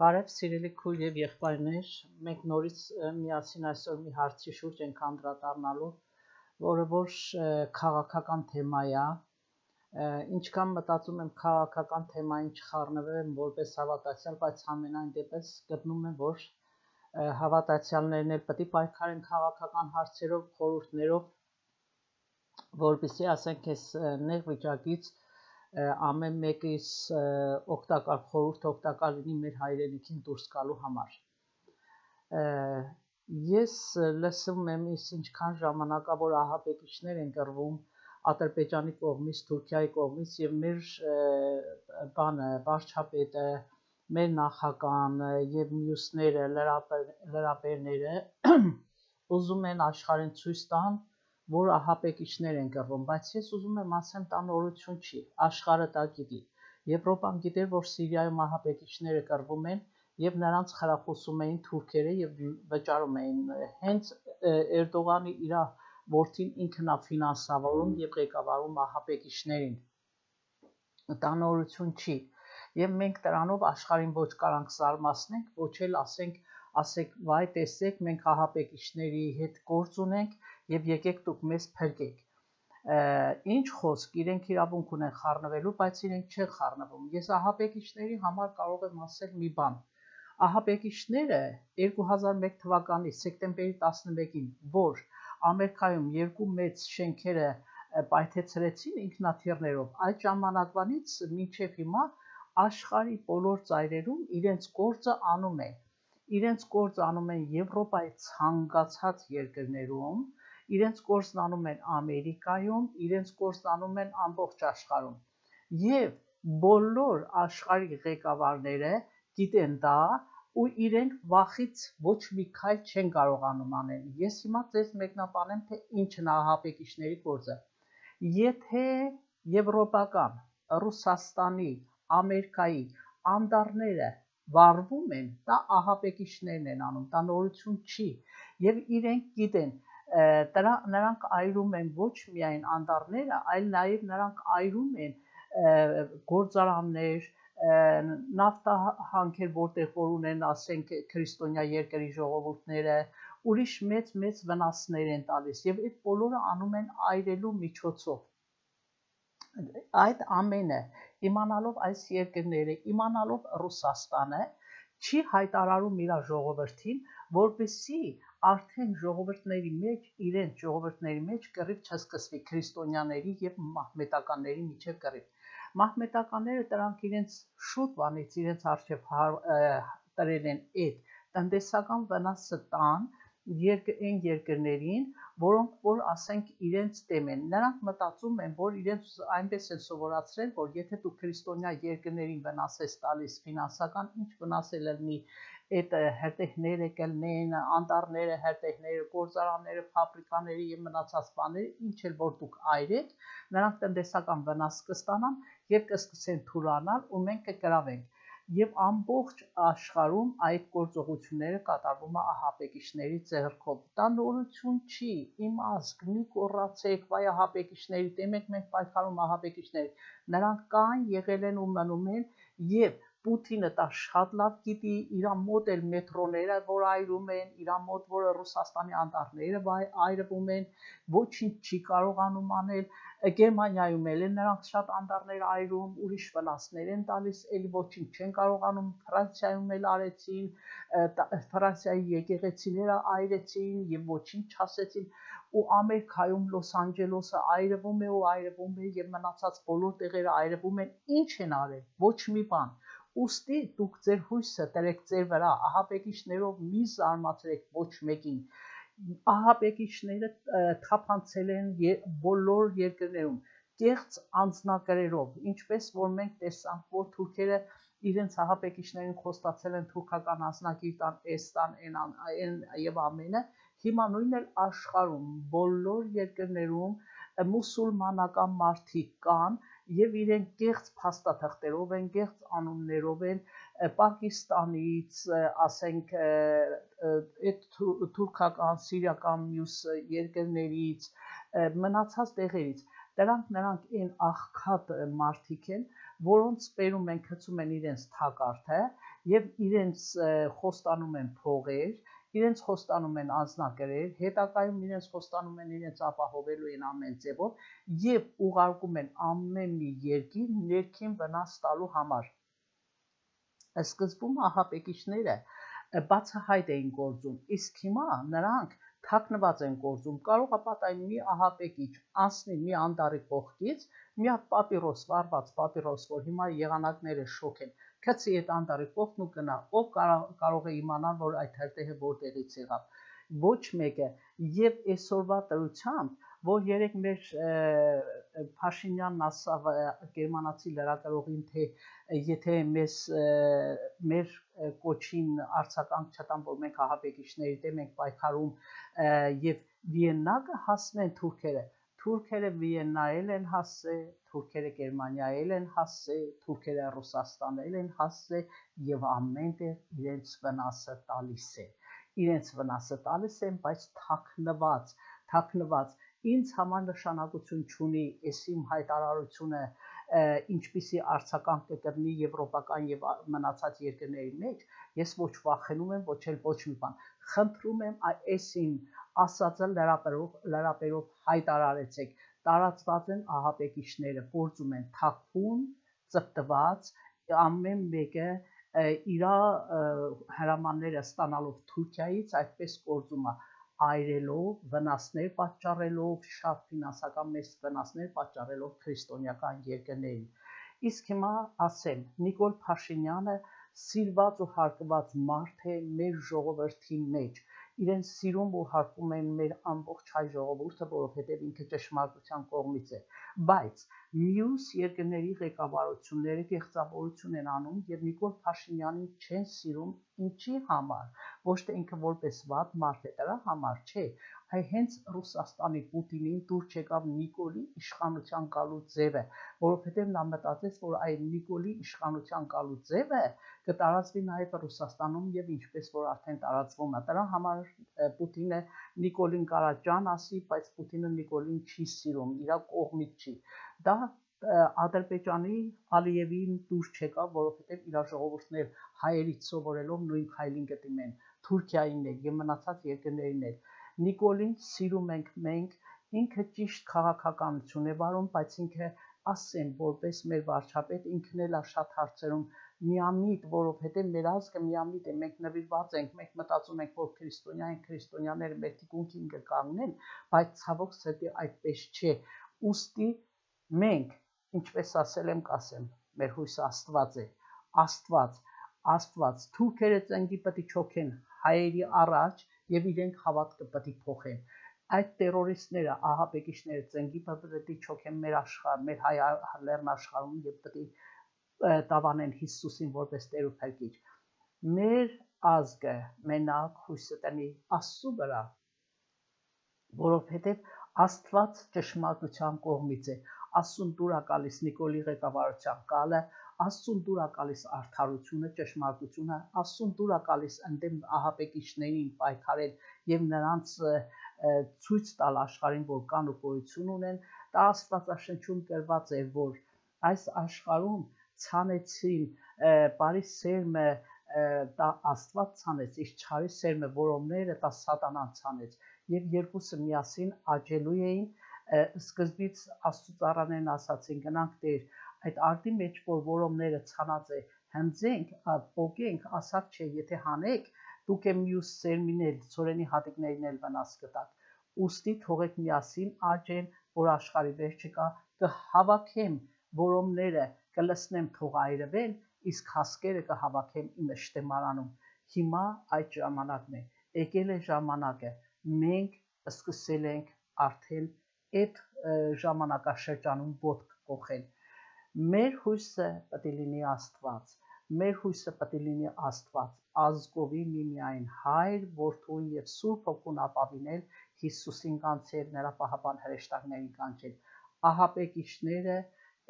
Բարև սիրելի քույր եւ եղբայրներ, մենք նորից միասին այսօր մի հարցի շուրջ ենք անդրադառնալու, որը որ քաղաքական թեմա է, ինչքան մտածում եմ քաղաքական թեմային չխառնվեմ որպես հավատացյալ, բայց ամենայն դեպս գտնում եմ, որ հավատացյալներն էլ պետք է պայքարեն քաղաքական հարցերով, խորհուրդներով, որպեսզի ասենք այս նեղ վիճակից ամեն մեկից օգտակար խորհուրդ օգտակար լինի մեր հայրենիքին դուրս գալու համար։ Ես լսում եմ ինչքան ժամանակավոր ահաբեկիչներ են կռվում Ադրբեջանի կողմից, Թուրքիայի կողմից եւ մեր վարչապետը, մեր նախագահան եւ մյուսները լրապերները ուզում են աշխարհին ցույց տան, որ ահաբեկիչներ են կռվում, բայց ես ուզում եմ ասեմ, դա նորություն չի, աշխարհը դա գիտի։ Եվրոպան գիտեր, որ Սիրիայում ահաբեկիչները կռվում են եւ նրանց խրախուսում էին թուրքերը եւ վճարում էին։ Հենց Էրդողանի իր որդին ինքն է ֆինանսավորում եւ ղեկավարում ահաբեկիչներին։ Դա նորություն չի։ Եվ մենք դրանով աշխարհին ոչ կարանք զարմացնենք, ոչ էլ ասենք վայ տեսեք, մենք ահաբեկիչների հետ գործ ունենք եւ եկեք դուք մեզ փրկեք։ Ինչ խոսք, իրենք իրավունք ունեն խառնվելու, բայց իրենք չեն խառնվում։ Ես ահաբեկիչների համար կարող եմ ասել մի բան։ Ահաբեկիչները 2001 թվականի սեպտեմբերի 11-ին, որ Ամերիկայում երկու մեծ շենքերը պայթեցրեցին ինքնաթիռներով, այդ ժամանակվանից մինչև հիմա աշխարհի բոլոր ծայրերում իրենց գործը անում են։ Իրենց գործը անում են Եվրոպայի ցանկացած երկրներում, իրենց գործն անում են Ամերիկայում, իրենց գործն անում են ամբողջ աշխարհում։ Եվ բոլոր աշխարհի ղեկավարները գիտեն դա ու իրենք վախից ոչ մի քայլ չեն կարողանում անել։ Ես հիմա ձեզ մեկնաբանեմ, թե ինչն է ահաբեկիչների գործը։ Եթե եվրոպական, Ռուսաստանի, Ամերիկայի անդառները վարվում են, դա ահաբեկիչներն են անում, դա նորություն չի։ Եվ իրենք գիտեն, նրանք այրում են ոչ միայն անդառները, այլ նաև նրանք այրում են գործարաններ, նավթահանքեր, որտեղ որ ունեն, ասենք, քրիստոնյա երկրի ժողովուրդները, ուրիշ մեծ վնասներ են տալիս եւ այդ բոլորը անում են այրելու միջոցով։ Այդ ամենը իմանալով այս երկրները, իմանալով Ռուսաստանը, չի հայտարարում իր ժողովրդին, որպեսզի արդեն իրենց ժողովրդների մեջ կռիվ չսկսվի քրիստոնյաների եւ մահմեդականների միջև կռիվ։ Մահմեդականները դրանք իրենց շուտ բանից իրենց արժեվ տրել են այդ տնտեսական վնասը տան այն երկրներին, որոնք որ ասենք իրենց դեմ են։ Նրանք մտածում են, որ իրենց այնպես են սովորացրել, որ եթե դու քրիստոնյա երկրներին վնաս ես տալիս ֆինանսական, ինչ վնաս է լինի այդ հրտեհները կլինեն, անդառները, հրտեհները, գործարանները, ֆաբրիկաները եւ մնացած բաները, ինչ էլ որ դուք այրեք, նրանք տնտեսական վնաս կստանան եւ կսկսեն թուլանալ ու մենք կգրավենք։ Եվ ամբողջ աշխարհում այդ գործողությունները կատարվում է ահաբեկիչների ձեռքով։ Դա նորություն չի, իմ ազգ, մի կոռացեք, վայ ահաբեկիչների դեմ ենք մենք պայքարում ահաբեկիչների։ Նրանք կան, եղել են ու մնում են եւ Պուտինը դա շատ լավ գիտի, իր մոտ էլ մետրոները, որ այրում են, իր մոտ որ Ռուսաստանի անդառները այրվում են, ոչինչ չի կարողանում անել։ Գերմանիայում էլ են նրանք շատ անդառներ այրում, ուրիշ վնասներ են տալիս, էլի ոչինչ չեն կարողանում, Ֆրանսիայում էլ արեցին, Ֆրանսիայի եկեղեցիները այրեցին եւ ոչինչ չասեցին, ու Ամերիկայում Լոս Անջելեսը այրվում է եւ մնացած բոլոր տեղերը այրվում են, ինչ են արել, ոչ մի բան։ Ուստի դուք ձեր հույսը դրեք ձեր վրա, ահաբեկիչներով մի զարմացրեք ոչ մեկին։ Ահաբեկիչները թափանցել են բոլոր երկրներում, կեղծ անձնակրերով, ինչպես որ մենք տեսանք, որ թուրքերը իրենց ահաբեկիչներին խոստացել են թուրքական անձնագիր տան, այն եւ ամենը, հիմա նույնն էլ աշխարհում, բոլոր երկրներում մուսուլմանական մարդիկ կան եւ իրենք կեղծ փաստաթղթերով են, կեղծ անուններով են Պակիստանից, ասենք, այդ թուրքական, սիրիական մյուս երկրներից, մնացած տեղերից։ Նրանք այն աղքատ մարդիկ են, որոնց բերում են գցում են իրենց թակարդը եւ իրենց խոստանում են փողեր, իրենց խոստանում են անձնագրեր, հետագայում իրենց խոստանում են իրենց ապահովելու են ամեն ձևով եւ ուղարկում են ամեն մի երկիր ներքին վնաս տալու համար։ Սկզբում ահաբեկիչները բացահայտ էին գործում, իսկ հիմա նրանք թաքնված են գործում։ Կարող է պատահի մի ահաբեկիչ անցնի մի անդարի կողքից, մի հատ պապիրոս, վառված պապիրոս, որ հիմա եղանակները շոկ են, գցի այդ անդարի կողքն ու գնա, ով կարող է իմանալ, որ այդ հերթը որտեղից եղավ։ Ոչ մեկը, եւ այսօրվա դրությամբ, որ երեք մեր Փաշինյանն ասավ գերմանացի լրագրողին, թե եթե մեր կոչին արձագանք չտան, որ մենք ահաբեկիչների դեմ ենք պայքարում եւ Վիեննա կհասնեն թուրքերը Վիեննայել են հասել, թուրքերը Գերմանիայել են հասել, թուրքերը Ռուսաստանել են հասել եւ ամենտեղ իրենց վնասը տալիս է։ Իրենց վնասը տալիս են, բայց թաքնված ինձ համար նշանակություն չունի այս իմ հայտարարությունը ինչպիսի արձագանք կգտնի եվրոպական եւ մնացած երկրների մեջ, ես ոչ վախենում եմ, ոչ էլ ոչ մի բան։ Խնդրում եմ այս իմ ասածը լրապերով հայտարարեցեք։ Տարածված են ահաբեկիչները, գործում են թաքուն, ծպտված, ամեն մեկը իր հրամանները ստանալով Թուրքիայից այդպես գործում է, այրելով, վնասներ պատճառելով, շատ ֆինանսական մեծ վնասներ պատճառելով քրիստոնեական երկրներին։ Իսկ հիմա ասեմ, Նիկոլ Փաշինյանը սիրված ու հարգված մարդ է մեր ժողովրդի մեջ։ Իրեն սիրում ու հարգում են մեր ամբողջ հայ ժողովուրդը, որովհետև ինքը ճշմարտության կողմից է։ Բայց մյուս երկրների ղեկավարությունները գեղձավորություն են անում եւ Նիկոլ Փաշինյանին չեն սիրում, ինչի համար։ Ոչ թե ինքը որպես վատ մարդ է, դրա համար չէ, այ հենց Ռուսաստանի Պուտինին դուր չեկավ Նիկոլի իշխանության գալու ձևը, որովհետև նա մտածեց, որ այդ Նիկոլի իշխանության գալու ձևը կտարածվի նաև Ռուսաստանում եւ ինչպես որ արդեն տարածվում է։ Դրա համար Պուտինը Նիկոլին կարա ջան ասի, բայց Պուտինը Նիկոլին չի սիրում, իր կողմից չի։ Դա Ադրբեջանի Ալիևին դուր չեկավ, որովհետև իր ժողովուրդներ հայերից սովորելով նույն քայլին կդիմեն Թուրքիային էլ եւ մնացած երկրներին էլ։ Նիկոլին սիրում ենք մենք, ինքը ճիշտ քաղաքականություն է վարում, բայց ինքը ասեմ, որպես մեր վարչապետ ինքն էլ է շատ հարցերում միամիտ, որովհետև մեր ազգը միամիտ է, մենք նվիրված ենք, մենք մտածում ենք, որ քրիստոնյա են, քրիստոնյաները մեր թիկունքին կկանգնեն, բայց ցավոք սրտի այդպես չէ։ Ուստի մենք, ինչպես ասել եմ, կասեմ, մեր հույսը Աստված է, Աստված, թուրքերը ծնկի պետք չոքեն հայերի առաջ եւ իրենք հավատքը պետք փոխեն։ Այդ տերորիստները, ահաբեկիչները ծնկի պետք չոքեն մեր աշխարհ, մեր հայ լեռնաշխարհում եւ պետք տավանեն Հիսուսին որպես Տեր ու Փրկիչ։ Մեր ազգը մենակ հույսը տնի Աստծու վրա, որովհետև Աստված ճշմարտության կողմից է։ Աստծուն դուր է գալիս Նիկոլի ղեկավարության կալը, Աստծուն դուր է գալիս արդարությունը, ճշմարտությունը, Աստծուն դուր է գալիս ընդդեմ ահաբեկիչներին պայքարել եւ նրանց ցույց տալ աշխարհին, որ կան ու գոյություն ունեն։ Դա Աստվածաշնչում գրված է, որ այս աշխարհում ցանեցին բարի սերմը, դա Աստված ցանեց, իսկ չարի սերմը որոնները դա սատանան ցանեց, եւ երկուսը միասին աճելու էին։ Սկզբից Աստծո ծառաներն ասացին գնանք Տեր, այդ արդի մեջ որ որոնները ցանած է հնձենք, պոկենք, ասակ չէ, եթե հանեք, դուք եմ մյուս սերմինել, ծորենի հատիկներին էլ վնաս կտակ։ Ուստի թողեք միասին աճեն, որ աշխարհի վերջը կա, կհավաքեմ որոնները, կլսնեմ թող այրվեն, իսկ հասկերը կհավաքեմ իմ շտեմարանում։ Հիմա այդ ժամանակն է, եկել է ժամանակը, մենք սկսել ենք արդեն այդ ժամանակաշրջանում ոտք կոխել։ Մեր հույսը պետք է լինի Աստված, մեր հույսը պետք է լինի Աստված, ազգովի միմիայն Հայր, Որդուն եւ Սուրբ Հոգուն ապավինել, Հիսուսին կանչել, նրա պահապան հրեշտակներին կանչել։ Ահաբեկիչները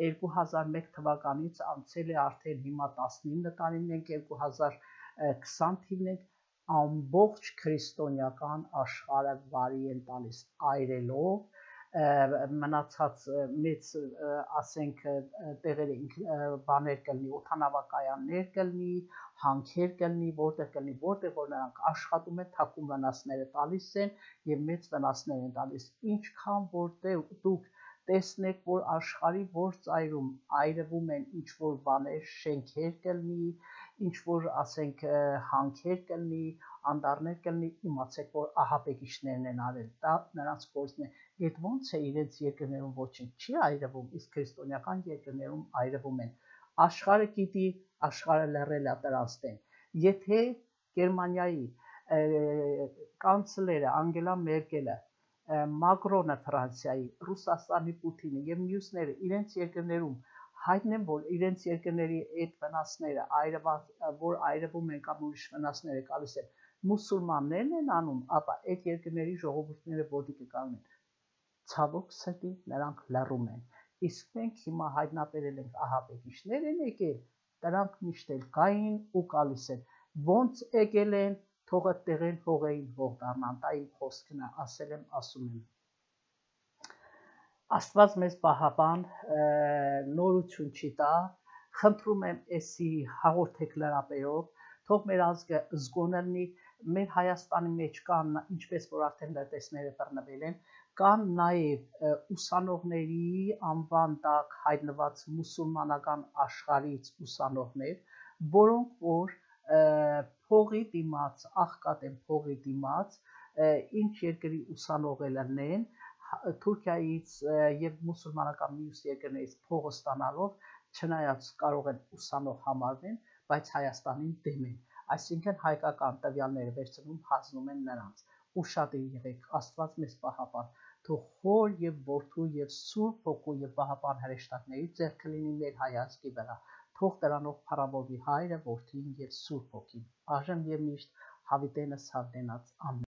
2001 թվականից անցել է արդեն հիմա 19 տարին ենք, 2020 թիվն ենք, ամբողջ քրիստոնեական աշխարհը վարի են տալիս այրելով, մնացած մեծ ասենք տեղերը բաներ կլինի, օդանավակայաններ կլինի, հանքեր կլինի, որտեղ որ նրանք աշխատում են, թաքուն վնասները տալիս են եւ մեծ վնասներ են տալիս։ Ինչքան որտեղ դուք տեսնեք, որ աշխարհի որ ծայրում այրվում են ինչ որ բաներ, շենքեր կլինի, ինչ որ ասենք հանքեր կլինի, անդառներ կլինի, իմացեք, որ ահաբեկիչներն են արել, դա նրանց գործն է։ Այդ ոնց է իրենց երկրներում ոչինչ չի այրվում, իսկ քրիստոնեական երկրներում այրվում են։ Աշխարհը գիտի, աշխարհը լռել է դրանց դեմ։ Եթե Գերմանիայի կանցլերը Անգելա Մերկելը, Մակրոնը Ֆրանսիայի, Ռուսաստանի Պուտինը եւ մյուսները իրենց երկրներում հայտնեն, որ իրենց երկրների այդ վնասները որ այրվում են կամ ուրիշ վնասները գալիս են մուսուլմաններն են անում, ապա այդ երկրների ժողովուրդները ոտի կկանգնեն։ Ցավոք սրտի նրանք լռում են, իսկ մենք հիմա հայտնաբերել ենք ահաբեկիչներ են եկել, դրանք միշտ էլ կային ու գալիս են, ոնց եկել են, թող այդտեղեն հողեին հող դառնան, դա իմ խոսքն է, ասել եմ, ասում եմ։ Աստված մեզ պահապան, նորություն չի տա, խնդրում եմ էսի հաղորդեք լրապերով, թող մեր ազգը զգոն լինի, մեր Հայաստանի մեջ կան, ինչպես որ արդեն լրտեսները բռնվել են, կան նաև ուսանողների անվան տակ հայտնված մուսուլմանական աշխարհից ուսանողներ, որոնք որ փողի դիմաց, աղքատ են փողի դիմաց, ինչ երկրի ուսանող լինեն, Թուրքիայից եւ մուսուլմանական մյուս երկրներից փողը ստանալով, չնայած կարող են ուսանող համարվեն, բայց Հայաստանին դեմ են, այսինքն հայկական տվյալները վերցնում հանձնում են նրանց։ Ուշադիր եղեք, Աստված մեզ պահապան, թող Հոր եւ Որդու եւ Սուրբ Հոգու եւ Պահապան հրեշտակների ձեռքը լինի մեր հայացքի վրա, թող դրանով փառավորվի Հայրը, Որդին եւ Սուրբ Հոգին, այժմ եւ միշտ հավիտենս հավիտենաց ամեն